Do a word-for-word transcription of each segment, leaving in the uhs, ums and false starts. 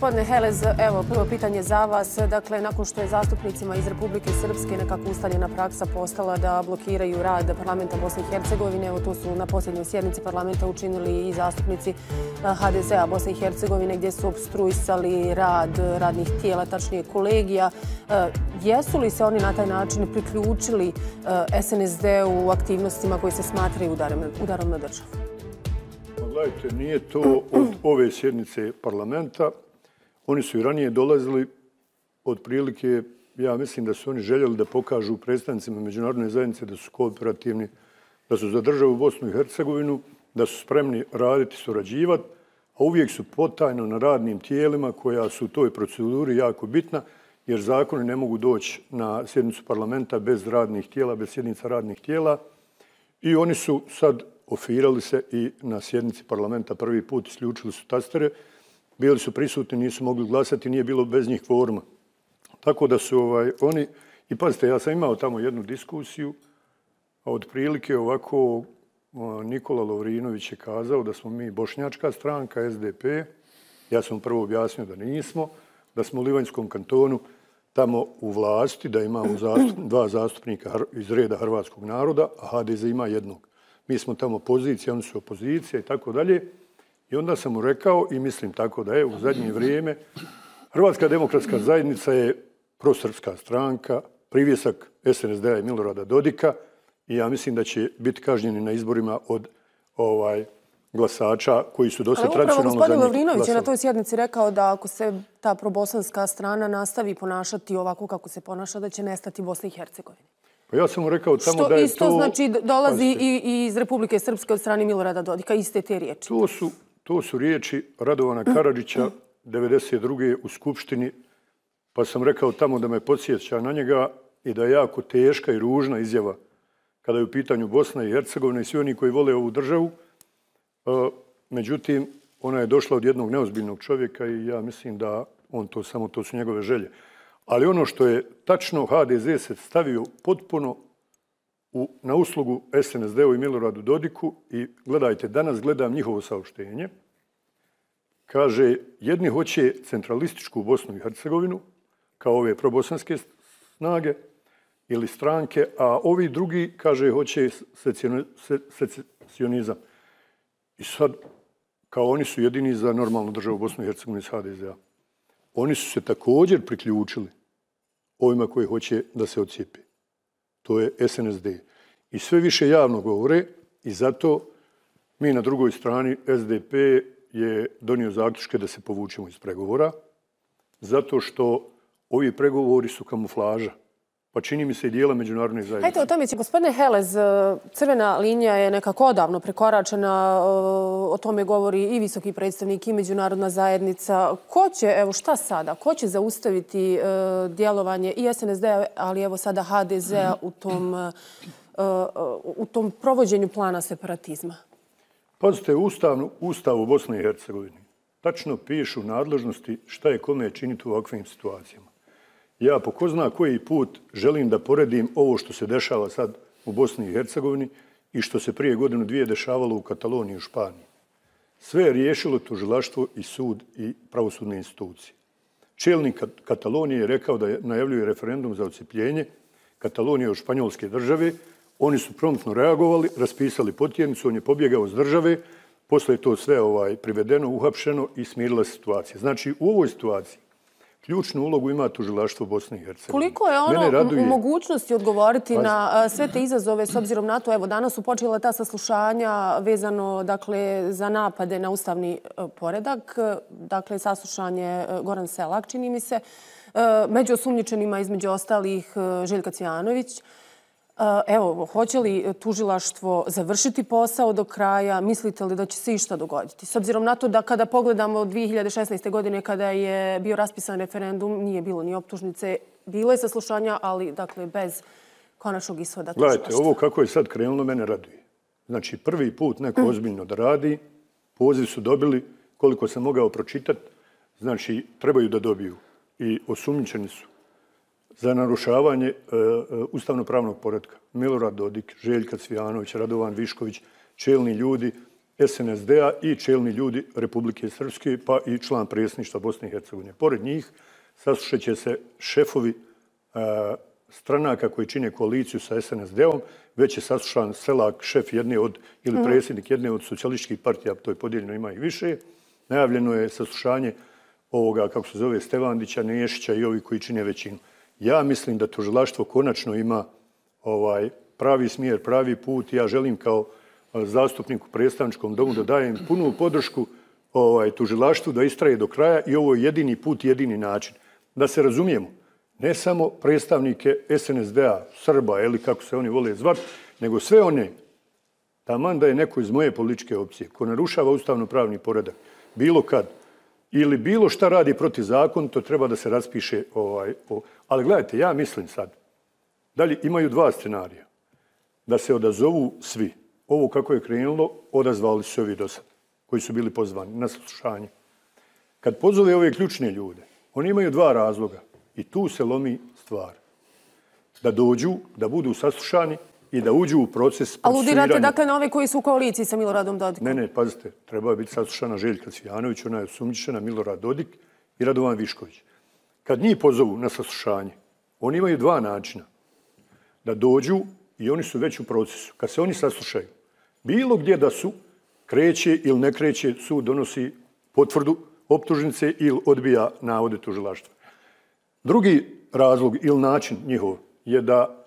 Gospodine Helez, evo prvo pitanje za vas. Dakle, nakon što je zastupnicima iz Republike Srpske nekako ustaljena praksa postala da blokiraju rad parlamenta Bosne i Hercegovine, evo to su na posljednjoj sjednici parlamenta učinili i zastupnici ha de zea Bosne i Hercegovine gdje su obstruisali rad radnih tijela, tačnije kolegija. Jesu li se oni na taj način priključili es en es de u aktivnostima koji se smatraju udarom na državu? Gledajte, nije to od ove sjednice parlamenta. Oni su i ranije dolazili, otprilike, ja mislim da su oni željeli da pokažu predstavnicima međunarodne zajednice da su kooperativni, da su za državu Bosnu i Hercegovinu, da su spremni raditi, surađivati, a uvijek su potajno na radnim tijelima koja su u toj proceduri jako bitna, jer zakoni ne mogu doći na sjednicu parlamenta bez radnih tijela, bez sjednica radnih tijela. I oni su sad ofirali se i na sjednici parlamenta prvi put, isključili su tastere, bili su prisutni, nisu mogli glasati, nije bilo bez njih kvoruma. Tako da su ovaj, oni, i pazite, ja sam imao tamo jednu diskusiju, a otprilike ovako Nikola Lovrinović je kazao da smo mi bošnjačka stranka, es de pe, ja sam prvo objasnio da nismo, da smo u Livanjskom kantonu tamo u vlasti, da imamo zastup, dva zastupnika iz reda hrvatskog naroda, a ha de ze ima jednog. Mi smo tamo pozicija, oni su opozicija i tako dalje. I onda sam mu rekao, i mislim tako da je, u zadnje vrijeme, Hrvatska demokratska zajednica je prosrpska stranka, privjesak es en es de-a i Milorada Dodika, i ja mislim da će biti kažnjeni na izborima od ovaj, glasača koji su dosta tradicionalno za njih glasali. Gospodin Lovrinović je na toj sjednici rekao da ako se ta probosanska strana nastavi ponašati ovako kako se ponaša, da će nestati Bosna i Hercegovina. Pa ja sam mu rekao tamo da je to... Što isto znači dolazi i iz Republike Srpske od strane Milorada Dodika, iste te riječi. To su, to su riječi Radovana Karadžića devedeset druge u Skupštini, pa sam rekao tamo da me podsjeća na njega i da je jako teška i ružna izjava kada je u pitanju Bosna i Hercegovina i svi oni koji vole ovu državu. Međutim, ona je došla od jednog neozbiljnog čovjeka i ja mislim da on to samo, to su njegove želje. Ali ono što je tačno, ha de ze se stavio potpuno u, na uslugu es en es de-u i Miloradu Dodiku i gledajte, danas gledam njihovo saopštenje. Kaže, jedni hoće centralističku Bosnu i Hercegovinu, kao ove probosanske snage ili stranke, a ovi drugi, kaže, hoće secesionizam. I sad, kao oni su jedini za normalnu državu Bosnu i Hercegovinu iz ha de ze-a. Oni su se također priključili ovima koji hoće da se ocijepi. To je es en es de. I sve više javno govore i zato mi na drugoj strani es de pe je donio zaključke da se povučemo iz pregovora, zato što ovi pregovori su kamuflaža. Pa čini mi se i dijela međunarodne zajednice. Hajde, o tome će, gospodine Helez, crvena linija je nekako odavno prekoračena, o tome govori i visoki predstavnik i međunarodna zajednica. Ko će, evo šta sada, ko će zaustaviti djelovanje i es en es de-a, ali evo sada ha de ze-a u tom, u tom provođenju plana separatizma? Pazite, u Ustavu Bosne i Hercegovine tačno pišu nadležnosti šta je kome činiti u ovakvim situacijama. Ja po ko zna koji put želim da poredim ovo što se dešava sad u Bosni i Hercegovini i što se prije godinu dvije dešavalo u Kataloniji i u Španiji. Sve je riješilo tužilaštvo i sud i pravosudne institucije. Čelnik Katalonije je rekao da najavljuje referendum za odcepljenje Katalonije od španjolske države. Oni su promptno reagovali, raspisali potjernicu, on je pobjegao s države, posle je to sve ovaj, privedeno, uhapšeno i smirila situacija. Znači, u ovoj situaciji ključnu ulogu ima tužilaštvo Bosne i Hercegovine. Koliko je ono u mogućnosti odgovoriti na sve te izazove s obzirom na to? Evo, danas su počela ta saslušanja vezano dakle, za napade na ustavni poredak. Dakle, saslušanje Goran Selak, čini mi se. Među osumnjičenima, između ostalih, Željka Cvijanović. Evo, hoće li tužilaštvo završiti posao do kraja? Mislite li da će se išta dogoditi? S obzirom na to da kada pogledamo dvije hiljade šesnaeste. godine kada je bio raspisan referendum, nije bilo ni optužnice, bilo je saslušanja, ali dakle bez konačnog ishoda tužilaštva. Gledajte, ovo kako je sad krenulo mene raduje. Znači, prvi put neko ozbiljno da radi, poziv su dobili, koliko sam mogao pročitati, znači, trebaju da dobiju i osumnjičeni su za narušavanje ustavno-pravnog poretka. Milorad Dodik, Željka Cvijanović, Radovan Višković, čelni ljudi S N S D-a i čelni ljudi Republike Srpske, pa i član predsjedništva Bosne i Hercegovine. Pored njih saslušat će se šefovi stranaka koji čine koaliciju sa S N S D-om, već je saslušan Selak, šef jedne od, ili predsjednik jedne od socijalističkih partija, to je podijeljeno, ima ih više. Najavljeno je saslušanje ovoga, kako se zove, Stevandića, Nešića i ovi koji čine većinu. Ja mislim da tužilaštvo konačno ima ovaj pravi smjer, pravi put. Ja želim kao zastupnik u predstavničkom domu da dajem punu podršku ovaj, tužilaštvu da istraje do kraja i ovo je jedini put, jedini način. Da se razumijemo, ne samo predstavnike S N S D-a, Srba ili kako se oni vole zvati, nego sve one, taman da je neko iz moje političke opcije ko narušava ustavno-pravni poredak, bilo kad, ili bilo šta radi protiv zakona, to treba da se raspiše. Ovaj, o... Ali gledajte, ja mislim sad, dalje imaju dva scenarija. Da se odazovu svi. Ovo kako je krenulo, odazvali su ovi do sad, koji su bili pozvani na saslušanje. Kad pozove ove ključne ljude, oni imaju dva razloga i tu se lomi stvar. Da dođu, da budu saslušani i da uđu u proces procesuiranja. Aludirate dakle na ove koji su u koaliciji sa Miloradom Dodikom? Ne, ne, pazite, treba biti saslušana Željka Cvijanović, ona je osumnjičena, Milorad Dodik i Radovan Višković. Kad njih pozovu na saslušanje, oni imaju dva načina. Da dođu i oni su već u procesu. Kad se oni saslušaju, bilo gdje da su, kreće ili ne kreće, sud donosi potvrdu optužnice ili odbija navode tužilaštva. Drugi razlog ili način njihov je da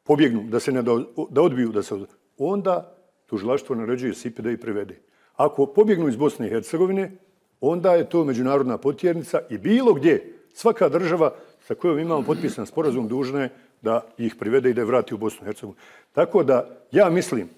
pobjegnu, da se ne da, da odbiju, da se odbiju. Onda tužilaštvo naređuje S I P da ih privede. Ako pobjegnu iz Bosne i Hercegovine, onda je to međunarodna potjernica i bilo gdje, svaka država sa kojom imamo potpisan sporazum dužna je da ih privede i da je vrati u Bosnu i Hercegovinu. Tako da ja mislim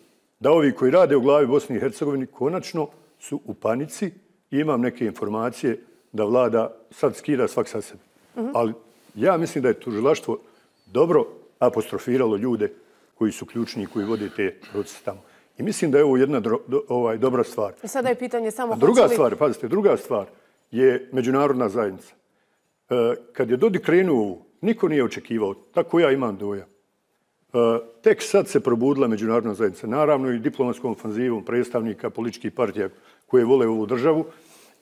da ovi koji rade u glavi Bosni i Hercegovini konačno su u panici i imam neke informacije da vlada sad skida svak sa sebe. Mm-hmm. Ali ja mislim da je tužilaštvo dobro apostrofiralo ljude koji su ključni i koji vode te procese tamo. I mislim da je ovo jedna dro, do, ovaj, dobra stvar. I sada je pitanje samo... A druga li... stvar, pazite, druga stvar je međunarodna zajednica. E, kad je Dodik krenuo ovu, niko nije očekivao, tako ja imam dojam. E, tek sad se probudila međunarodna zajednica, naravno i diplomatskom ofanzivom predstavnika političkih partija koje vole ovu državu.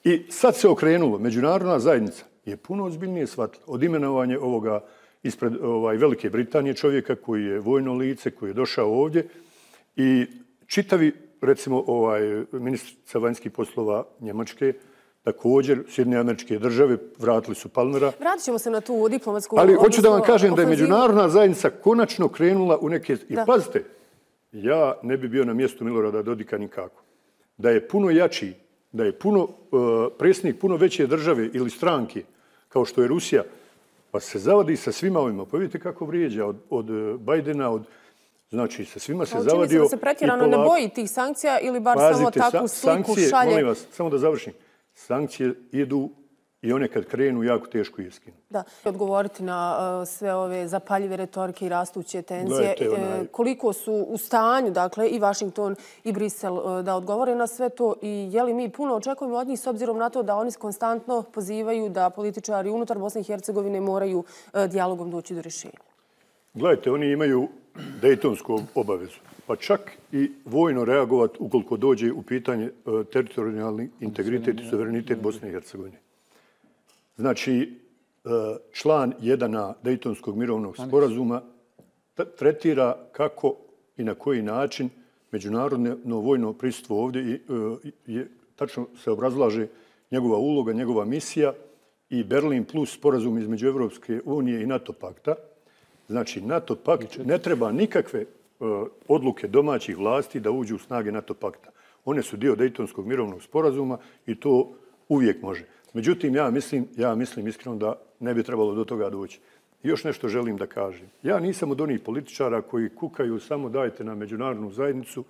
I sad se okrenulo, međunarodna zajednica je puno ozbiljnije shvatila od imenovanja ovoga ispred ovaj, Velike Britanije čovjeka koji je vojno lice, koji je došao ovdje i čitavi, recimo, ovaj, ministrica vanjskih poslova Njemačke, također Sjedinjene Američke Države, vratili su Palmera. Vratit ćemo se na tu diplomatsku... Ali hoću da vam kažem da je međunarodna zajednica konačno krenula u neke... I da. Pazite, ja ne bi bio na mjestu Milorada Dodika nikako. Da je puno jači, da je puno uh, predsjednik puno veće države ili stranke, kao što je Rusija, pa se zavadi sa svima ovima. Pa vidite kako vrijeđa od, od Bajdena, od... Znači, sa svima se zavadio... Čini se da se pretjerano ne boji tih sankcija ili bar pazite, samo takvu sliku sankcije, šalje... Molim vas, samo da završim. Sankcije idu i one kad krenu jako teško je skinu. Da, odgovoriti na uh, sve ove zapaljive retorike i rastuće tenzije. Gledajte, onaj... Koliko su u stanju, dakle, i Washington i Brisel uh, da odgovore na sve to i je li mi puno očekujemo od njih s obzirom na to da oni konstantno pozivaju da političari unutar Bosne i Hercegovine moraju uh, dijalogom doći do rješenja? Gledajte, oni imaju Dejtonsku obavezu, pa čak i vojno reagovati ukoliko dođe u pitanje uh, teritorijalni integritet i suverenitet Bosne i Hercegovine. Znači, uh, član jedan a Dejtonskog mirovnog sporazuma tretira kako i na koji način međunarodno vojno prisustvo ovdje i, uh, je, tačno se obrazlaže njegova uloga, njegova misija i Berlin plus sporazum između Evropske unije i NATO pakta. Znači, NATO pakt ne treba nikakve uh, odluke domaćih vlasti da uđu u snage NATO pakta. One su dio Dejtonskog mirovnog sporazuma i to uvijek može. Međutim, ja mislim, ja mislim iskreno da ne bi trebalo do toga doći. I još nešto želim da kažem. Ja nisam od onih političara koji kukaju samo dajte na međunarodnu zajednicu.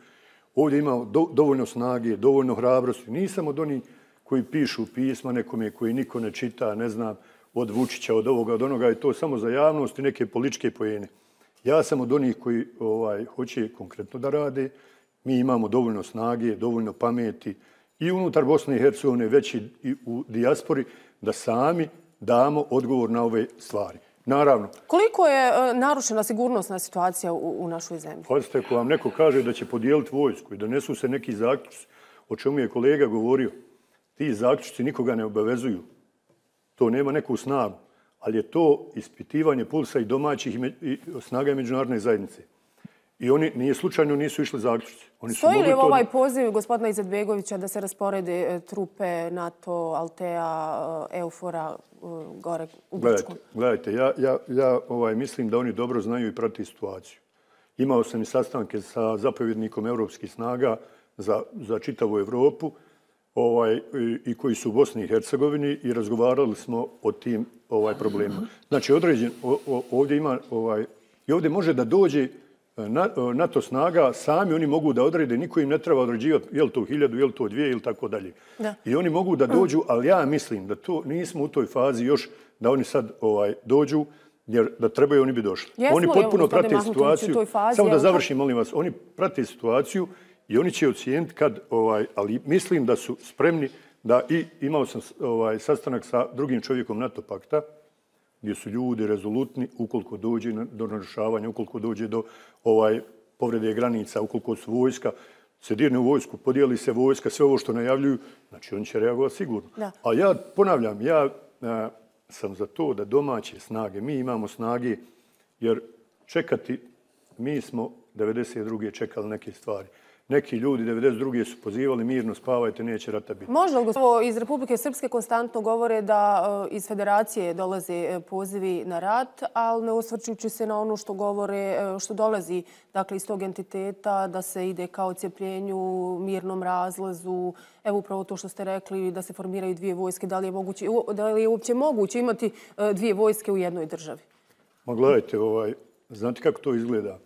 Ovdje ima do, dovoljno snage, dovoljno hrabrosti. Nisam od onih koji pišu pisma nekome koji niko ne čita, ne znam, od Vučića, od ovoga, od onoga, i to samo za javnost i neke političke pojene. Ja sam od onih koji ovaj, hoće konkretno da rade. Mi imamo dovoljno snage, dovoljno pameti i unutar Bosne i Hercegovine, već i u dijaspori, da sami damo odgovor na ove stvari. Naravno. Koliko je uh, narušena sigurnosna situacija u, u našoj zemlji? Pazite, ako vam neko kaže da će podijeliti vojsku i da nesu se neki zaključci, o čemu je kolega govorio. Ti zaključci nikoga ne obavezuju. To nema neku snagu, ali je to ispitivanje pulsa i domaćih i snaga međunarodne zajednice. I oni nije slučajno nisu išli zaključci. Oni Stoji li ovaj poziv gospodina Izetbegovića da se rasporede trupe NATO, Altea, Eufora gore u Grčku? Gledajte, ja, ja, ja ovaj, mislim da oni dobro znaju i prati situaciju. Imao sam i sastanke sa zapovjednikom evropskih snaga za, za čitavu Evropu ovaj, i, i koji su u Bosni i Hercegovini i razgovarali smo o tim ovaj, problemima. Znači, određen, o, o, ovdje ima, ovaj, i ovdje može da dođe NATO snaga, sami oni mogu da odrede, niko im ne treba određivati je li to hiljadu, je li to dvije ili tako dalje. I oni mogu da dođu, ali ja mislim da to nismo u toj fazi još da oni sad ovaj, dođu, jer da trebaju oni bi došli. Jesmo oni potpuno prate situaciju. Fazi, samo da završim, molim vas, oni prate situaciju i oni će ocijeniti kad, ovaj, ali mislim da su spremni da i imao sam ovaj, sastanak sa drugim čovjekom NATO pakta, gdje su ljudi rezolutni ukoliko dođe do narušavanja, ukoliko dođe do ovaj, povrede granica, ukoliko su vojska, se dirne u vojsku, podijeli se vojska, sve ovo što najavljuju, znači oni će reagovati sigurno. Da. A ja ponavljam, ja a, sam za to da domaće snage, mi imamo snage, jer čekati, mi smo devedeset druge čekali neke stvari. Neki ljudi devedeset druge su pozivali mirno, spavajte, neće rata biti. Možda li iz Republike Srpske konstantno govore da iz federacije dolaze pozivi na rat, ali ne osvrćujući se na ono što govore, što dolazi dakle, iz tog entiteta, da se ide kao cijepljenju, mirnom razlazu. Evo upravo to što ste rekli, da se formiraju dvije vojske. Da li je, moguće, da li je uopće moguće imati dvije vojske u jednoj državi? Ma gledajte, ovaj, znate kako to izgleda?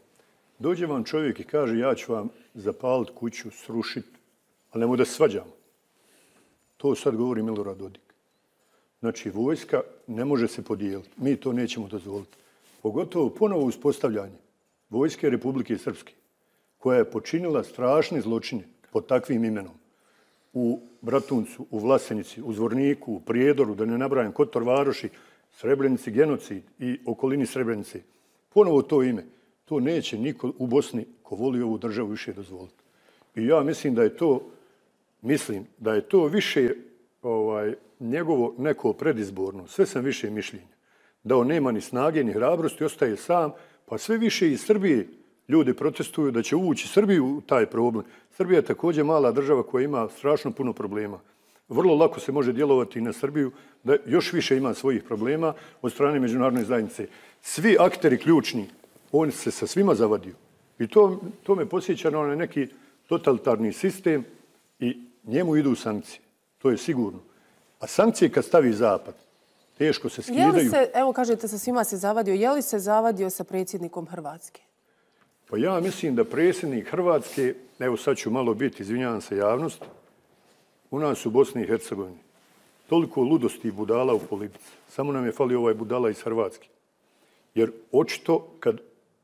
Dođe vam čovjek i kaže ja ću vam zapaliti kuću, srušiti, ali nemoj da se svađamo. To sad govori Milorad Dodik. Znači, vojska ne može se podijeliti. Mi to nećemo dozvoliti. Pogotovo ponovo uspostavljanje Vojske Republike Srpske, koja je počinila strašne zločine pod takvim imenom. U Bratuncu, u Vlasenici, u Zvorniku, u Prijedoru, da ne nabrajam, Kotor Varoši, Srebrenici, genocid i okolini Srebrenice. Ponovo to ime. To neće niko u Bosni ko voli ovu državu više dozvoliti. I ja mislim da je to, mislim da je to više ovaj, njegovo neko predizborno, sve sam više mišljenja, da on nema ni snage ni hrabrosti, ostaje sam, pa sve više iz Srbije ljudi protestuju da će uvući Srbiju u taj problem. Srbija je također mala država koja ima strašno puno problema. Vrlo lako se može djelovati na Srbiju da još više ima svojih problema od strane međunarodne zajednice. Svi akteri ključni, on se sa svima zavadio. I to, to me posjeća na onaj neki totalitarni sistem i njemu idu sankcije. To je sigurno. A sankcije kad stavi Zapad, teško se skidaju. Je li se, evo kažete, sa svima se zavadio, je li se zavadio sa predsjednikom Hrvatske? Pa ja mislim da predsjednik Hrvatske, evo sad ću malo biti, izvinjavam se javnost, u nas u Bosni i Hercegovini toliko ludosti i budala u politici. Samo nam je falio ovaj budala iz Hrvatske. Jer očito kad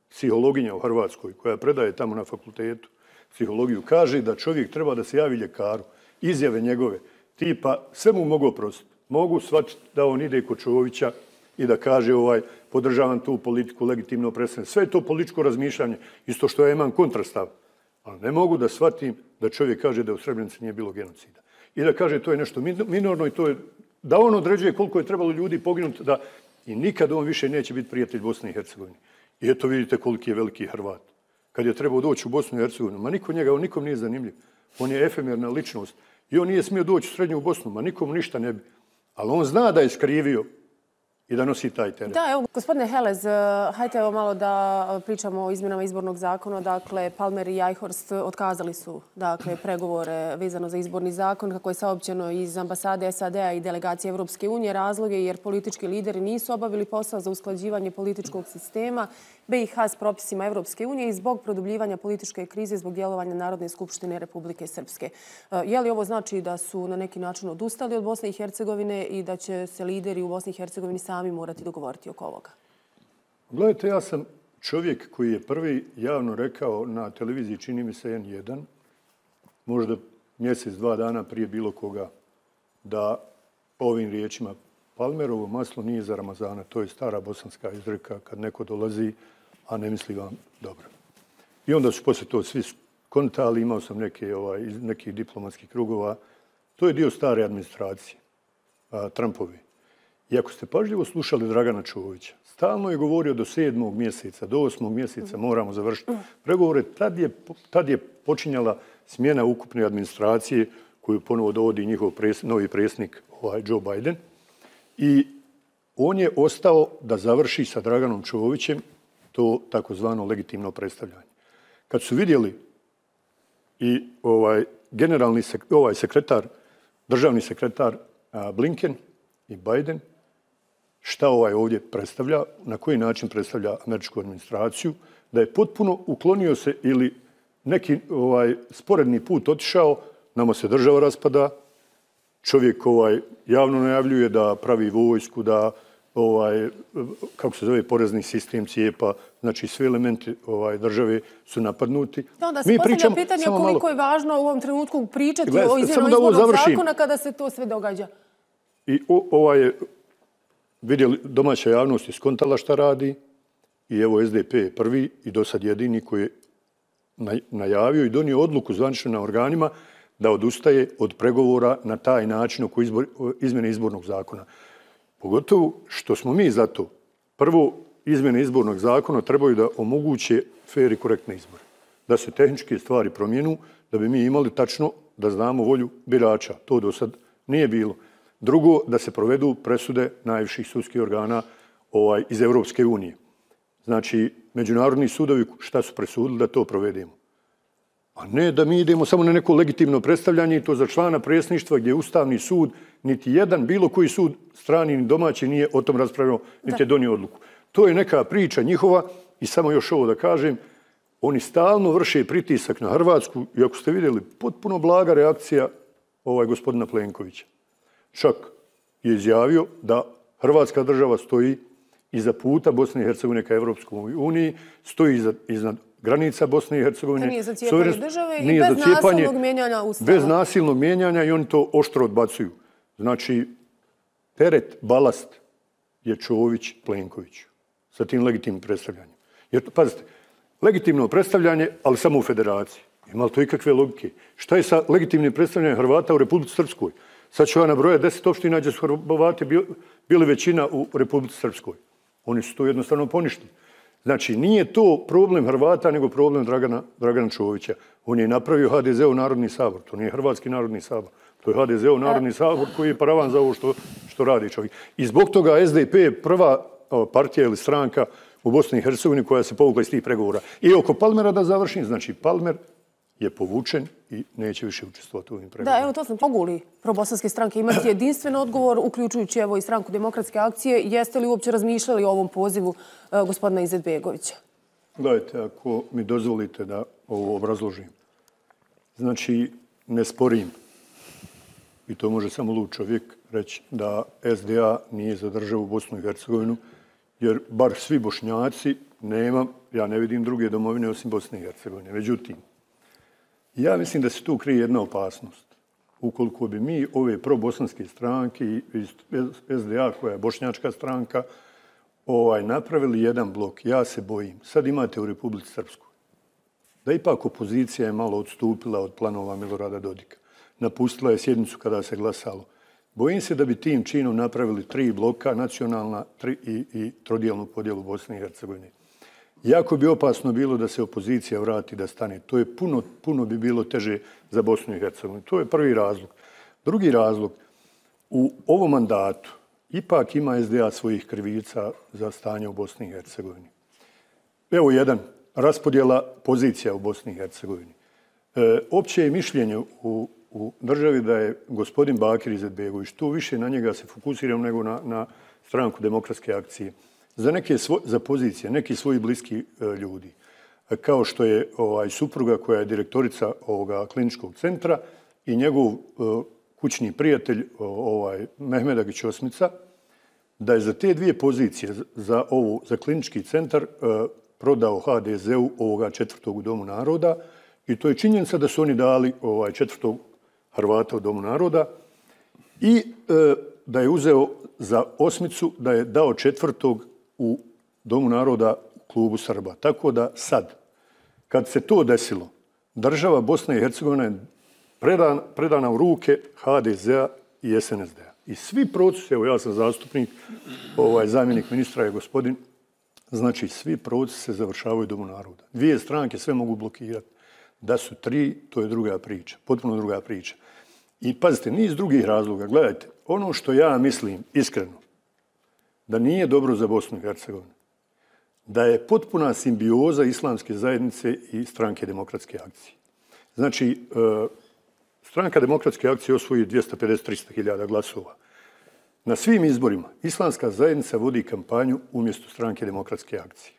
psihologinja u Hrvatskoj, koja predaje tamo na fakultetu psihologiju, kaže da čovjek treba da se javi ljekaru, izjave njegove, tipa sve mu mogu oprostiti. Mogu shvatiti da on ide kod Čovića i da kaže ovaj, podržavam tu politiku legitimno predstavljanje. Sve je to političko razmišljanje, isto što ja imam kontrastav. Ali ne mogu da shvatim da čovjek kaže da u Srebrenici nije bilo genocida. I da kaže to je nešto minorno i to je da on određuje koliko je trebalo ljudi poginuti da i nikad on više neće biti prijatelj Bosne i Hercegovine. I eto vidite koliki je veliki Hrvat. Kad je trebao doći u Bosnu i Hercegovinu, ma niko njega, on nikom nije zanimljiv. On je efemerna ličnost. I on nije smio doći u Srednju Bosnu, ma nikom ništa ne bi. Ali on zna da je skrivio i da nosi taj teret. Da, evo, gospodine Helez, hajte evo malo da pričamo o izmjenama izbornog zakona. Dakle, Palmer i Eichhorst otkazali su dakle, pregovore vezano za izborni zakon, kako je saopćeno iz ambasade S A D-a i delegacije Evropske unije. Razloge jer politički lideri nisu obavili posao za usklađivanje političkog sistema B i H s propisima Evropske unije i zbog produbljivanja političke krize zbog djelovanja Narodne skupštine Republike Srpske. Je li ovo znači da su na neki način odustali od Bosne i Hercegovine i da će se lideri u Bosni i Hercegovini sami morati dogovoriti oko ovoga? Gledajte, ja sam čovjek koji je prvi javno rekao na televiziji, čini mi se N jedan, možda mjesec, dva dana prije bilo koga, da ovim riječima Palmerovo maslo nije za Ramazana. To je stara bosanska izreka kad neko dolazi, a ne misli vam dobro. I onda su poslije to svi kontali, imao sam neke, ovaj, iz nekih diplomatskih krugova. To je dio stare administracije, a, Trumpovi. I ako ste pažljivo slušali Dragana Čovića, stalno je govorio do sedmog mjeseca, do osmog mjeseca moramo završiti pregovore. Tad je, tad je počinjala smjena ukupne administracije koju ponovo dovodi njihov pres, novi predsjednik ovaj, Joe Biden. I on je ostao da završi sa Draganom Čovićem to takozvano legitimno predstavljanje. Kad su vidjeli i ovaj generalni sek, ovaj sekretar, državni sekretar a, Blinken i Biden, šta ovaj ovdje predstavlja, na koji način predstavlja američku administraciju, da je potpuno uklonio se ili neki ovaj sporedni put otišao, nama se država raspada, čovjek ovaj javno najavljuje da pravi vojsku, da ovaj kako se zove porezni sistem cijepa, znači sve elementi ovaj države su napadnuti. Da, onda se mi pričamo pitanje koliko malo... je važno u ovom trenutku pričati Gled, o izmjenu izbornog zakona kada se to sve događa. I o, ovaj vidjeli, domaća javnost je skontala šta radi i evo S D P je prvi i do sad jedini koji je najavio i donio odluku zvanično na organima da odustaje od pregovora na taj način oko izbor, izmjene izbornog zakona. Pogotovo što smo mi za to. Prvo, izmjene izbornog zakona trebaju da omoguće fer i korektne izbore. Da se tehničke stvari promijenu, da bi mi imali tačno da znamo volju birača. To do sad nije bilo. Drugo, da se provedu presude najviših sudskih organa ovaj, iz Europske unije. Znači, međunarodni sudovi šta su presudili da to provedemo. A ne da mi idemo samo na neko legitimno predstavljanje i to za člana predsjedništva gdje je Ustavni sud, niti jedan, bilo koji sud, strani ni domaći, nije o tom raspravljao, niti je donio odluku. To je neka priča njihova i samo još ovo da kažem, oni stalno vrše pritisak na Hrvatsku i ako ste vidjeli, potpuno blaga reakcija ovaj gospodina Plenkovića. Čak je izjavio da Hrvatska država stoji iza puta Bosne i Hercegovine ka Evropskoj uniji, stoji iza, iznad granica Bosne i Hercegovine. Nije za cijepanje države i bez nasilnog mijenjanja Ustava. Bez nasilnog mijenjanja i oni to oštro odbacuju. Znači, teret, balast je Čović Plenković sa tim legitimnim predstavljanjem. Jer, pazite, legitimno predstavljanje, ali samo u federaciji. Ima li to ikakve logike? Šta je sa legitimnim predstavljanjem Hrvata u Republici Srpskoj? Sad ću ja nabrojati deset opština gdje su Hrvati bili većina u Republici Srpskoj. Oni su to jednostavno poništili. Znači, nije to problem Hrvata, nego problem Dragana, Dragana Čovića. On je napravio H D Z U Narodni sabor. To nije Hrvatski narodni sabor. To je H D Z U Narodni sabor koji je paravan za ovo što, što radi čovjek. I zbog toga S D P je prva partija ili stranka u Bosni i Hercegovini koja se povukla iz tih pregovora. I oko Palmera da završim, znači Palmer je povučen i neće više učestvovati u ovim pregovorima. Da, evo to sam. Mogu li probosanske stranke imati jedinstven odgovor, uključujući evo i stranku Demokratske akcije? Jeste li uopće razmišljali o ovom pozivu uh, gospodina Izetbegovića? Gledajte, ako mi dozvolite da ovo obrazložim. Znači, ne sporim, i to može samo lud čovjek reći, da S D A nije za državu Bosnu i Hercegovinu, jer bar svi Bošnjaci nema, ja ne vidim druge domovine osim Bosne i Hercegovine. Međutim, ja mislim da se tu krije jedna opasnost. Ukoliko bi mi ove probosanske stranke i S D A, koja je bošnjačka stranka, ovaj, napravili jedan blok, ja se bojim. Sad imate u Republici Srpskoj da ipak opozicija je malo odstupila od planova Milorada Dodika. Napustila je sjednicu kada se glasalo. Bojim se da bi tim činom napravili tri bloka, nacionalna tri i, i trodijelnu podjelu Bosne i Hercegovine. Jako bi opasno bilo da se opozicija vrati da stane. To je puno, puno bi bilo teže za Bosnu i Hercegovinu. To je prvi razlog. Drugi razlog, u ovom mandatu ipak ima S D A svojih krivica za stanje u Bosni i Hercegovini. Evo jedan, raspodjela pozicija u Bosni i Hercegovini. E, opće je mišljenje u, u državi da je gospodin Bakir Izetbegović, tu više na njega se fokusiram nego na, na stranku Demokratske akcije, za neke svo, za pozicije, neki svoji bliski e, ljudi, e, kao što je ovaj supruga koja je direktorica ovoga kliničkog centra i njegov e, kućni prijatelj ovaj Mehmedagić Osmica, da je za te dvije pozicije, za ovu za klinički centar, e, prodao H D Z U ovoga četvrtog u Domu naroda i to je činjenica da su oni dali ovaj četvrtog Hrvata u Domu naroda i e, da je uzeo za Osmicu, da je dao četvrtog u Domu naroda klubu Srba. Tako da sad, kad se to desilo, država Bosna i Hercegovina je predana, predana u ruke ha de zea i es en es de a. I svi procesi, evo ja sam zastupnik, ovaj zamjenik ministra je gospodin, znači svi procesi se završavaju u Domu naroda. Dvije stranke sve mogu blokirati. Da su tri, to je druga priča, potpuno druga priča. I pazite, niz drugih razloga. Gledajte, ono što ja mislim iskreno, da nije dobro za Bosnu i Hercegovinu, da je potpuna simbioza islamske zajednice i stranke demokratske akcije. Znači, stranka demokratske akcije osvoji dvjesto pedeset do trista hiljada glasova. Na svim izborima islamska zajednica vodi kampanju umjesto stranke demokratske akcije.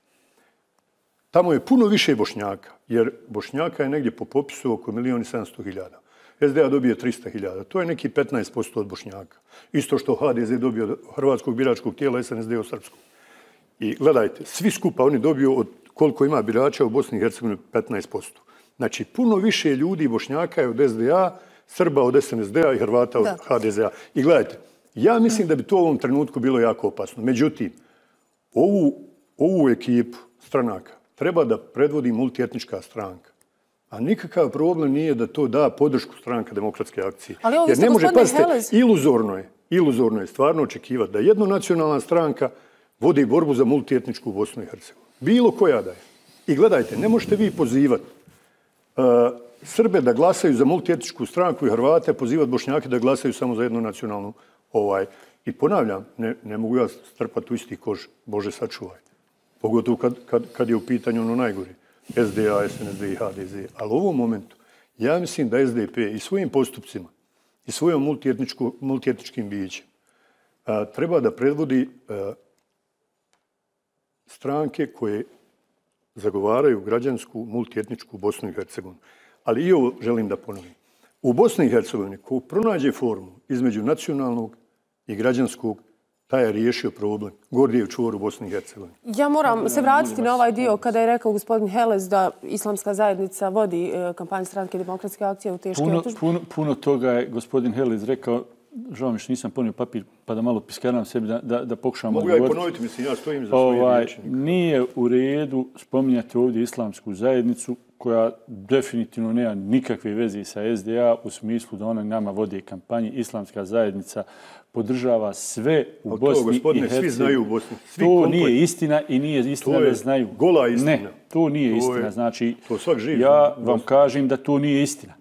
Tamo je puno više Bošnjaka, jer Bošnjaka je negdje po popisu oko milijon i sedamsto hiljada. es de a dobije trista hiljada. To je neki petnaest posto od Bošnjaka. Isto što ha de ze dobio od hrvatskog biračkog tijela, es en es de od srpskog. I gledajte, svi skupa oni dobiju od koliko ima birača u Bosni i Hercegovini petnaest posto. Znači, puno više ljudi Bošnjaka je od es de a, Srba od es en es de a i Hrvata od ha de ze a. I gledajte, ja mislim da bi to u ovom trenutku bilo jako opasno. Međutim, ovu, ovu ekipu stranaka treba da predvodi multietnička stranka. A nikakav problem nije da to da podršku stranka demokratske akcije. Ali ovo jer ne može, pazite, Helez... iluzorno je, iluzorno je stvarno očekivati da jednonacionalna stranka vodi borbu za multietničku Bosnu i Hercegovinu. Bilo koja da je. I gledajte, ne možete vi pozivati uh, Srbe da glasaju za multietničku stranku i Hrvate, pozivati Bošnjake da glasaju samo za jednonacionalnu. Ovaj. I ponavljam, ne, ne mogu ja strpati u isti kož, Bože sačuvaj. Pogotovo kad, kad, kad je u pitanju ono najgore. es de a, es en es de i ha de ze. Ali u ovom momentu ja mislim da es de pe i svojim postupcima i svojom multietničkim bićem a, treba da predvodi a, stranke koje zagovaraju građansku multietničku Bosnu i Hercegovinu. Ali i ovo želim da ponovim. U Bosni i Hercegovini ko pronađe formu između nacionalnog i građanskog, taj je riješio problem. Gordijev čvor u Bosni i Hercegovini. Ja moram se vratiti na ovaj dio kada je rekao gospodin Helez da islamska zajednica vodi kampanju stranke demokratske akcije u teške puno, otužbe. Puno, puno toga je gospodin Helez rekao. Žao mi što nisam ponio papir pa da malo piskaram sebi da, da, da pokušam Mogu odgovoriti. ja i ponoviti, mislim, ja stojim za svoje ovaj, riječnike. Nije u redu spominjati ovdje islamsku zajednicu koja definitivno nema nikakve veze sa es de a u smislu da ona nama vodi kampanje. Islamska zajednica podržava sve u to, Bosni gospodine, i Hercegovini. svi znaju u Bosni. Svi to komplet... nije istina i nije istina to je da znaju. Gola istina. Ne, to nije to istina. Je, znači, to svak živ, ja zna, vam kažem da to nije istina.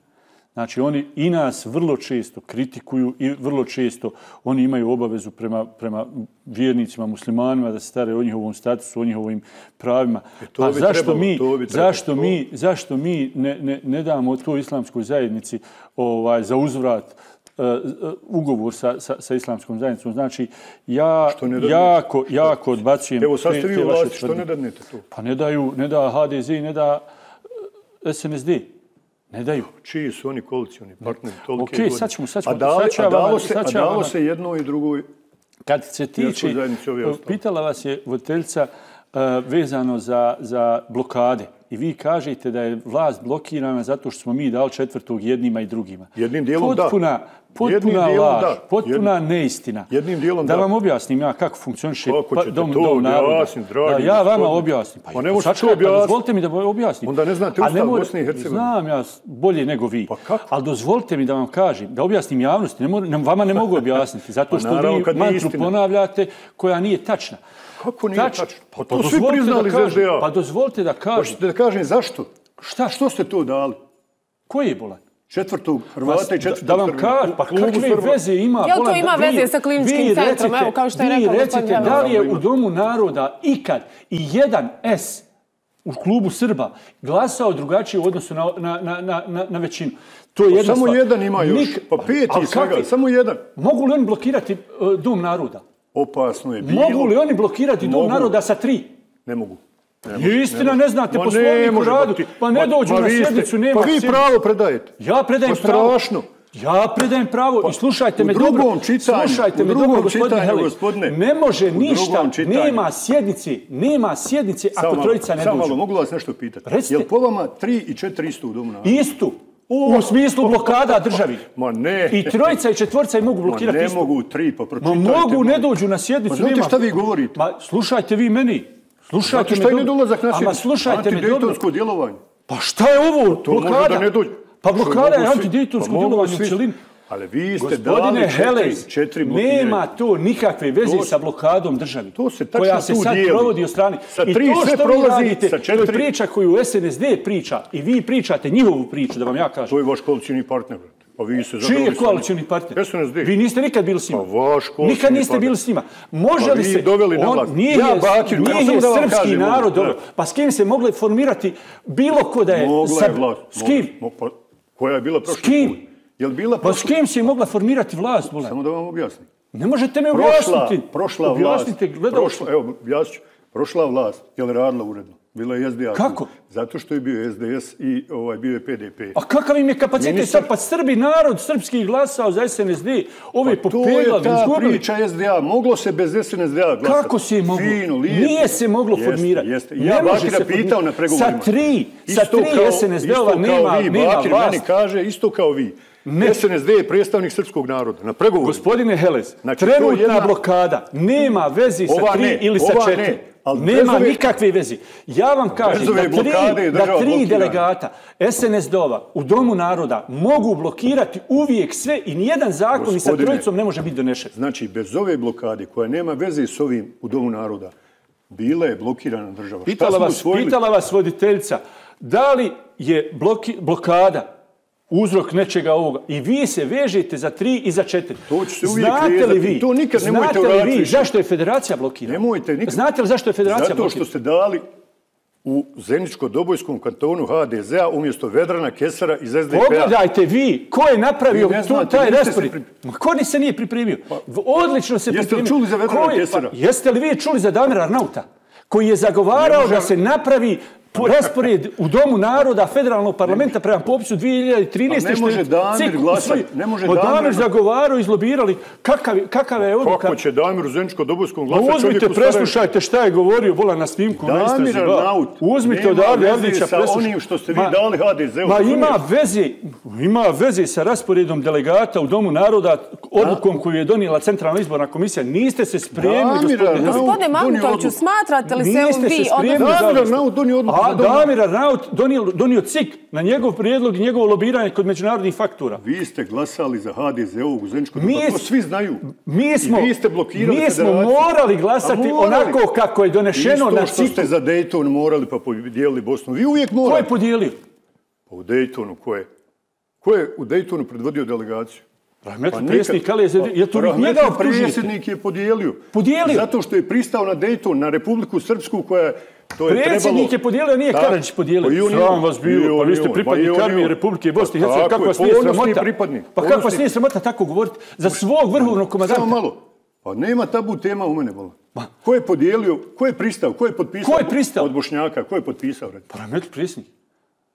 Znači, oni i nas vrlo često kritikuju i vrlo često oni imaju obavezu prema, prema vjernicima, muslimanima da se stare o njihovom statusu, o njihovim pravima. E, to A bi zašto trebalo, mi, to bi trebalo. zašto mi, zašto mi ne, ne, ne damo toj islamskoj zajednici ovaj, za uzvrat uh, ugovor sa, sa, sa islamskom zajednicom? Znači, ja jako, jako odbacujem... Evo, sad ste vi u vlasti, što ne dadnete to? Pa ne daju, ne da ha de ze i ne da es en es de. Ne daju. Čiji su oni koalicijoni partneri? Ok, sad ćemo, sad ćemo. A, dali, sad a dalo, se, sad a dalo se jedno i drugoj... Kad se tiče, pitala vas je voditeljica uh, vezano za, za blokade. I vi kažete da je vlast blokirana zato što smo mi dali četvrtog jednima i drugima. Jednim dijelom potpuna, da. Potpuna laž, da. potpuna Jednim, neistina. Jednim dijelom da. Da vam objasnim ja kako funkcioniše pa, dom, dom naroda. Da, ja vama objasnim. Pa, pa ne možete to objasniti. Pa dozvolite mi da objasnim. Onda ne znate Ustav Bosne i Hercegovine. Znam ja bolje nego vi. Pa kako? Ali dozvolite mi da vam kažem, da objasnim javnosti. Ne mo, ne, vama ne mogu objasniti. Zato što pa, naravno, vi mantru ponavljate koja nije tačna. Kako nije Tač, tačno? Pa, pa to svi priznali za es de a. Pa dozvolite da kažem. Hoćete da kažem zašto? Šta? Što ste to dali? Koji je bolan? Četvrtog Hrvata i četvrtog da vam kažem, pa kakve veze ima? Jel to ima veze sa kliničkim centrom, evo kao što je rekao gospodin Helez? Vi recite da li je u Domu naroda ikad i jedan S u klubu Srba glasao drugačije u odnosu na, na, na, na, na većinu? To je jedna samo stvar. jedan ima još, Nik... pa peti i svega, kakvi? Samo jedan. Mogu li oni blokirati uh, Dom naroda? Opasno je bilo. Mogu li oni blokirati Dom Mogu. naroda sa tri? Ne mogu. Ne može, istina, ne, ne znate poslovnik u radu. Pa, pa ne dođu na sjednicu, nema Pa vi sjednicu. pravo predajete. Ja predajem pa pravo. Strašno. Ja predajem pravo pa, i slušajte me dobro. Čitanju, slušajte me dobro, gospodine Helez. Ne može ništa, nema sjednice, nema sjednice ako samo, trojica ne samo dođu. Samo malo, mogu vas nešto pitati. Recite. Jel po vama tri i četiri isto u Domu naroda? Istu. U smislu blokada državi. Ma ne. I trojica i četvorca i mogu blokirati Ma ne istu. mogu tri, pa pročitajte. Ma mogu, ne dođu na sjednicu. Pa znate šta vi govorite? Ma slušajte vi meni. Slušajte Zato šta je nedolazak našeg slušajte me dobro. Antidejtonsko djelovanje. Pa šta je ovo? To može da ne dođe. Pa blokada je antidejtonsko djelovanje u celini. Ali vi ste Gospodine Helez, četiri blokiranja. nema to nikakve veze sa blokadom državi. To se tačno koja se tu sad dijeli. provodi od strane. Sa I tri to sve što vi prolazi radite, sa četiri. to je priča koju S N S D priča i vi pričate njihovu priču, da vam ja kažem. To je vaš koalicijni partner. Pa vi se Čiji je koalicijni partner? S N S D. Vi niste nikad bili s njima. Pa vaš koalicijni Nikad niste partner. bili s njima. Može Pa li vi se... doveli na vlast. Nije Ja, je, Bakir, nije samo je da vam srpski kažem, narod da. dobro. Pa s kim se mogli formirati bilo ko da je... Mogla sad- je vlast. S kim? Mogla. Pa, koja je bila prošli S kim? put? Je li bila Pa s prošli? kim se mogla formirati vlast, Bole? Samo da vam objasnim. Ne možete me Prošla, objasniti. prošla vlast. Objasnite, gledalci. Prošla, evo, objasnit ću. Prošla vlast, je li radila uredno? Bila je S D A. Kako? Zato što je bio S D S i ovaj, bio je P D P. A kakav im je kapacitet Ministar- sad? Pa Srbi, narod srpski glasao za S N S D. Ove Pa to je popeglali, ta izgubili. priča S D A. Moglo se bez S N S D A glasati. Kako se je moglo? Fino, lijepo. Nije se moglo Jeste, formirati. Jeste. Ne Ja može Bakira se pitao formirati. na pregovorima. Sa tri, sa Isto tri kao- S N S D-ova isto kao nema, vi, nema Bakir vlast. meni kaže isto kao vi. Ne. S N S D je predstavnik srpskog naroda. Na pregovorima. Gospodine Helez, Znači, to je trenutna jedna- blokada nema vezi sa Ova tri ne, ili sa ova četiri. ne, ali bez Nema ove- nikakve veze. Ja vam kažem Bez ove da blokade je tri, država da tri blokirana. delegata S N S D-ova u Domu naroda mogu blokirati uvijek sve i nijedan zakon i sa Gospodine, trojicom ne može biti donešen. Znači, bez ove blokade koja nema veze s ovim u Domu naroda, bila je blokirana država. Šta Pitala smo vas, usvojili? pitala vas voditeljica, da li je bloki, blokada uzrok nečega ovoga i vi se vežete za tri i za četiri. To ću se uvijek Znate li vezati. vi, To nikad nemojte znate li uraditi vi više. zašto je federacija blokirana? Nemojte nikad. Znate li zašto je federacija Zato što blokirana? ste dali u Zeničko-Dobojskom kantonu H D Z-a umjesto Vedrana Kesara iz S D P-a. Pogledajte vi, ko je napravio Vi ne tu, znate, taj niste se raspored? pri- Ma ko ni se nije pripremio? Odlično se Jeste li pripremio. čuli za Vedrana Ko je- Kesara? Pa, jeste li vi čuli za Damira Arnauta? Koji je zagovarao Ne može- da se napravi po raspored u Domu naroda federalnog parlamenta prema popisu dvije hiljade trinaeste. A ne može što je Damir cik glasati, usvojio. ne može Pa Damir- Damir zagovarao, izlobirali. Kakav, kakava je odluka? Kako će Damir u Zeničko-Dobojskom Pa glasati čovjek uzmite, u Sarajevu? preslušajte šta je govorio Bola na snimku. na istrazi, Damir ba. Arnaut Uzmite nema odavde veze Avdića, sa preslušajte. onim što ste vi Ma- dali H D Z-u. Ma razumiješ? ima veze, ima veze sa rasporedom delegata u Domu naroda, odlukom koju je donijela Centralna izborna komisija. Niste se spremili, Damir gospodine. Arnaut Gospodine donio Mahmutoviću, odluku. smatrate li se Niste vi... se spremili odnosno- za Damir odluku. Arnaut donio odluku A za Dom. Damir Arnaut donio, donio C I K na njegov prijedlog i njegovo lobiranje kod međunarodnih faktura. Vi ste glasali za H D Z-u u Zeničko. Mi Pa to s- svi znaju. Mi smo, I vi ste blokirali mi smo federaciju. morali glasati A morali. onako kako je donešeno na Isto što C I ste K-u. za Dayton morali pa podijelili Bosnu. Vi uvijek Ko morate. je podijelio? Pa u Daytonu ko je? Ko je u Daytonu predvodio delegaciju? Rahmetli nikad. predsjednik Ali je, je to vi Rahmetli njega optužujete? predsjednik je podijelio. Podijelio? Zato što je pristao na Dayton, na Republiku Srpsku koja je... To je Predsjednik trebalo... je podijelio, nije Tak. Karadžić podijelio. Pa i on i Sram on. vas I bilo, pa on vi i ste on. pripadnik Pa i on i armije on. Republike Bosne i Pa Hercegovine. tako Kako je, vas nije ponosni sramota? pripadnik, Pa kako vas ponosni. nije sramota tako govoriti za svog vrhovnog komandanta? Samo malo. Pa nema tabu tema u mene, bola. Ko je podijelio, ko je pristao, ko je potpisao? Ko je pristao? Od Bošnjaka, ko je potpisao? recimo? Pa Rahmetli predsjednik.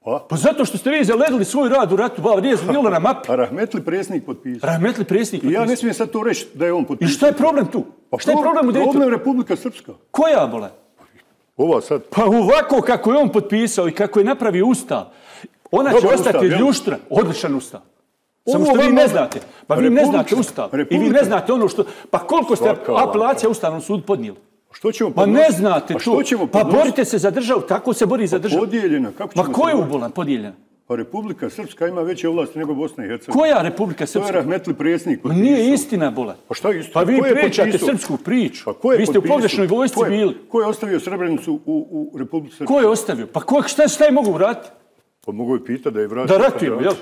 Pa? Pa zato što ste vi zaledili svoj rad u ratu, ba, nije bilo na mapi. A Rahmetli predsjednik potpisao. Rahmetli predsjednik. I ja ne potpisao. smijem sad to reći da je on I potpisao. šta je problem tu? Pa Šta je problem u Daytonu? Problem Republika Srpska. Koja, Bole? Ova sad. Pa ovako kako je on potpisao i kako je napravio ustav, ona će Dobar ostati ustav, jel? ljuštra. Odličan ustav. Samo Ovo što vi vama- ne znate. Pa vi ne Republika- znate ustav. I vi Republika. ne znate ono što... Pa koliko ste Svaka vam apelacija Ustavnom sudu podnijeli? Što ćemo Pa ne podnositi? znate Pa to. što ćemo Pa podnositi? borite se za državu, tako se bori za državu. Podijeljena, kako ćemo Ma ko je se boriti? ubolan podijeljena? Pa Republika Srpska ima veće ovlasti nego Bosna i Hercegovina. Koja Republika To je Srpska? Rahmetli predsjednik Ma potpisao. nije istina, Bola. Pa šta je istina? Pa vi Ko je pričate potpisao? srpsku priču. Pa ko je Vi ste u potpisao? pogrešnoj vojsci Ko je- bili. Ko je ostavio Srebrenicu u, u Republici Srpskoj? Ko je ostavio? Pa ko, šta, šta je mogu vratiti? Pa mogu je pitati da je vratio. Da ratujemo, jel?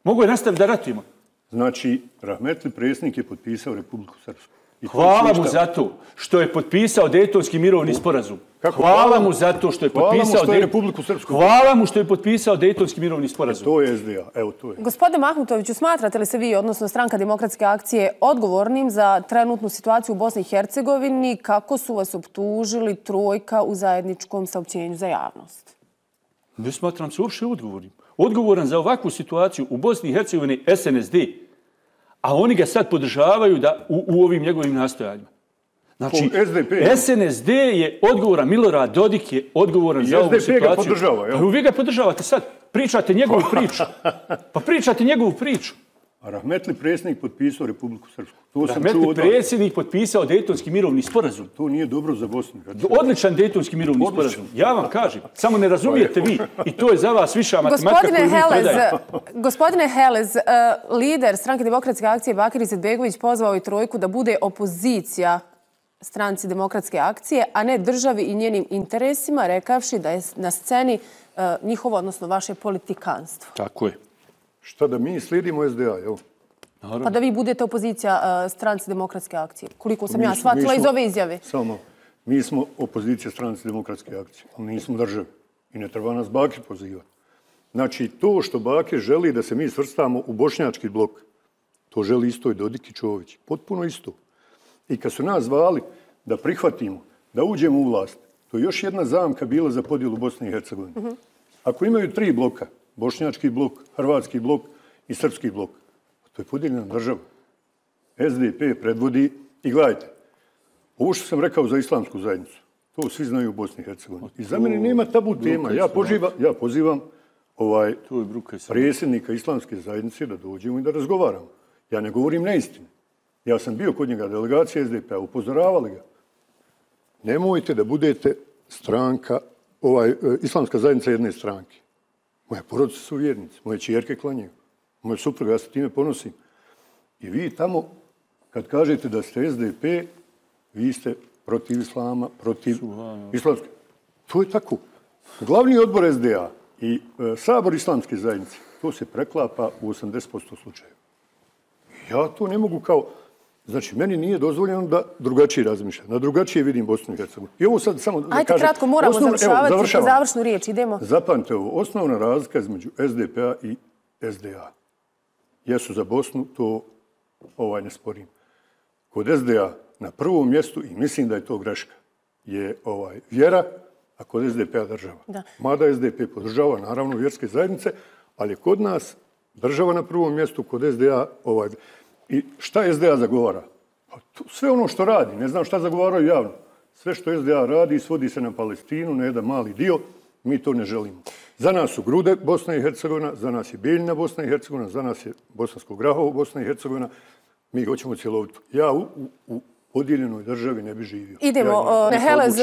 Mogu je nastaviti da ratujemo. Znači, Rahmetli predsjednik je potpisao Republiku Srpsku. I to Hvala su mu šta? za to što je potpisao Dejtonski mirovni sporazum. Kako? Hvala Hvala mu mu- za to što je hvala mu potpisao što je Dej- Republiku Srpsku. Hvala mu što je potpisao Dejtonski mirovni sporazum. To je S D A, evo to je. Gospodine Mahmutoviću, smatrate li se vi, odnosno Stranka demokratske akcije, odgovornim za trenutnu situaciju u Bosni i Hercegovini, kako su vas optužili trojka u zajedničkom saopćenju za javnost? Ne smatram se uopšte odgovornim. Odgovoran za ovakvu situaciju u Bosni i Hercegovini S N S D, a oni ga sad podržavaju da, u, u ovim njegovim nastojanjima. Znači, S D P. S N S D je odgovoran, Milorad Dodik je odgovoran I za ovu S D P situaciju. ga podržava, jel? Pa vi ga podržavate sad. Pričate njegovu priču. Pa pričate njegovu priču. A rahmetli predsjednik potpisao Republiku Srpsku. To sam rahmetli čuo predsjednik potpisao Dejtonski mirovni sporazum. To nije dobro za Bosnu. Odličan Dejtonski mirovni Odličan. sporazum. Ja vam kažem, samo ne razumijete vi. I to je za vas viša matematika koju vi predajete. Gospodine Helez, uh, lider Stranke demokratske akcije Bakir Izetbegović pozvao i trojku da bude opozicija Stranci demokratske akcije, a ne državi i njenim interesima, rekavši da je na sceni uh, njihovo, odnosno vaše politikanstvo. Tako je. Šta da mi slijedimo S D A, jel? Pa da vi budete opozicija uh, Stranci demokratske akcije. Koliko sam mi ja shvatila smo, iz ove izjave. Samo, mi smo opozicija Stranci demokratske akcije, ali nismo državi. I ne treba nas Bakir pozivati. Znači, to što Bakir želi da se mi svrstamo u bošnjački blok, to želi isto i Dodik i Čović. Potpuno isto. I kad su nas zvali da prihvatimo, da uđemo u vlast, to je još jedna zamka bila za podjelu Bosne i Hercegovine. Uh-huh. Ako imaju tri bloka, bošnjački blok, hrvatski blok i srpski blok, to je podijeljena država. S D P predvodi i gledajte, ovo što sam rekao za islamsku zajednicu, to svi znaju u Bosni i Hercegovini. I za mene nema tabu tema. Ja, poživa, ja pozivam ovaj predsjednika islamske zajednice da dođemo i da razgovaramo. Ja ne govorim neistinu. Ja sam bio kod njega delegacije S D P-a, upozoravali ga. Nemojte da budete stranka, ovaj, islamska zajednica jedne stranke. Moje porodice su vjernici, moje čijerke klanjaju, moje supruga, ja se time ponosim. I vi tamo, kad kažete da ste S D P, vi ste protiv islama, protiv islamske. To je tako. Glavni odbor S D A i e, sabor islamske zajednice, to se preklapa u osamdeset posto slučajeva. Ja to ne mogu kao... Znači, meni nije dozvoljeno da drugačije razmišljam, da drugačije vidim Bosnu i Hercegovinu. I ovo sad samo da Ajde, kažem... kratko, moramo osnovno, završavati, evo, završnu riječ, idemo. Zapamte ovo, osnovna razlika između S D P-a i S D A. Jesu za Bosnu, to ovaj ne sporim. Kod S D A na prvom mjestu, i mislim da je to greška, je ovaj vjera, a kod S D P-a država. Da. Mada S D P podržava, naravno, vjerske zajednice, ali je kod nas država na prvom mjestu, kod S D A ovaj... I šta S D A zagovara? Pa to, sve ono što radi, ne znam šta zagovaraju javno. Sve što S D A radi svodi se na Palestinu, na jedan mali dio, mi to ne želimo. Za nas su Grude Bosna i Hercegovina, za nas je Bijeljina Bosna i Hercegovina, za nas je Bosansko Grahovo Bosna i Hercegovina. Mi hoćemo cjelovito. Ja u, u, u podijeljenoj državi ne bi živio. Idemo. Ja Helez,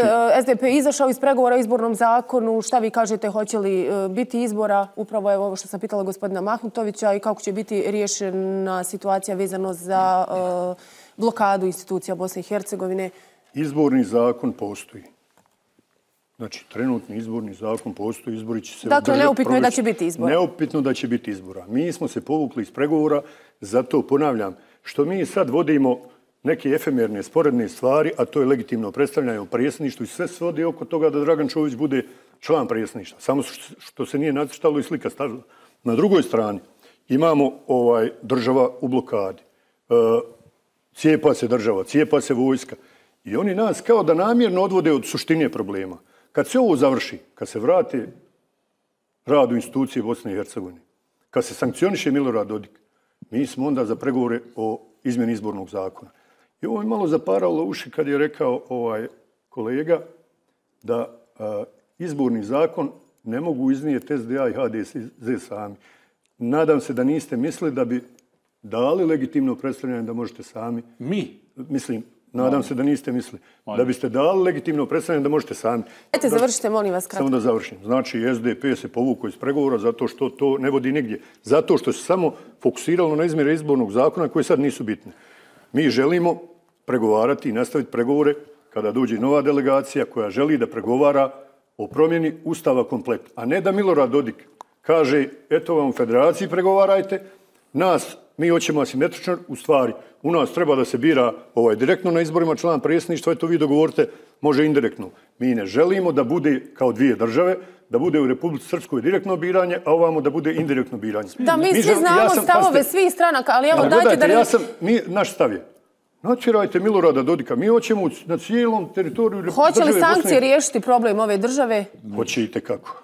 S D P izašao iz pregovora o izbornom zakonu. Šta vi kažete, hoće li biti izbora? Upravo je ovo što sam pitala gospodina Mahmutovića i kako će biti riješena situacija vezano za uh, blokadu institucija Bosne i Hercegovine. Izborni zakon postoji. Znači, trenutni izborni zakon postoji, izbori će se... Dakle, neupitno je da će biti izbora. Neupitno da će biti izbora. Mi smo se povukli iz pregovora, zato ponavljam, što mi sad vodimo neke efemerne, sporedne stvari, a to je legitimno predstavljanje u predsjedništvu i sve svodi oko toga da Dragan Čović bude član predsjedništva. Samo što se nije nacrtalo i slika stavila. Na drugoj strani imamo ovaj država u blokadi. E, cijepa se država, cijepa se vojska. I oni nas kao da namjerno odvode od suštine problema. Kad se ovo završi, kad se vrate rad u institucije Bosne i Hercegovine, kad se sankcioniše Milorad Dodik, mi smo onda za pregovore o izmjeni izbornog zakona. I ovo je malo zaparalo uši kad je rekao ovaj kolega da a, izborni zakon ne mogu iznijeti S D A i H D S sami. Nadam se da niste mislili da bi dali legitimno predstavljanje da možete sami. Mi? Mislim, nadam no. se da niste mislili. No. Da biste dali legitimno predstavljanje da možete sami. Ajte, završite, molim vas, kratko. Samo da završim. Znači, S D P se povukao iz pregovora zato što to ne vodi nigdje. Zato što se samo fokusiralo na izmjere izbornog zakona koje sad nisu bitne. Mi želimo pregovarati i nastaviti pregovore kada dođe nova delegacija koja želi da pregovara o promjeni Ustava komplet. A ne da Milorad Dodik kaže, eto vam u federaciji pregovarajte, nas, mi hoćemo asimetrično, u stvari, u nas treba da se bira ovaj, direktno na izborima član predsjedništva, eto vi dogovorite, može indirektno. Mi ne želimo da bude kao dvije države, da bude u Republici Srpskoj direktno biranje, a ovamo da bude indirektno biranje. Da, mi, mi svi znamo ja sam, stavove paste, svih stranaka, ali evo dajte gledajte, da... Ja sam, mi, naš stav je, natjerajte Milorada Dodika, mi hoćemo na cijelom teritoriju... Hoće li sankcije riješiti problem ove države? Hoće i tekako.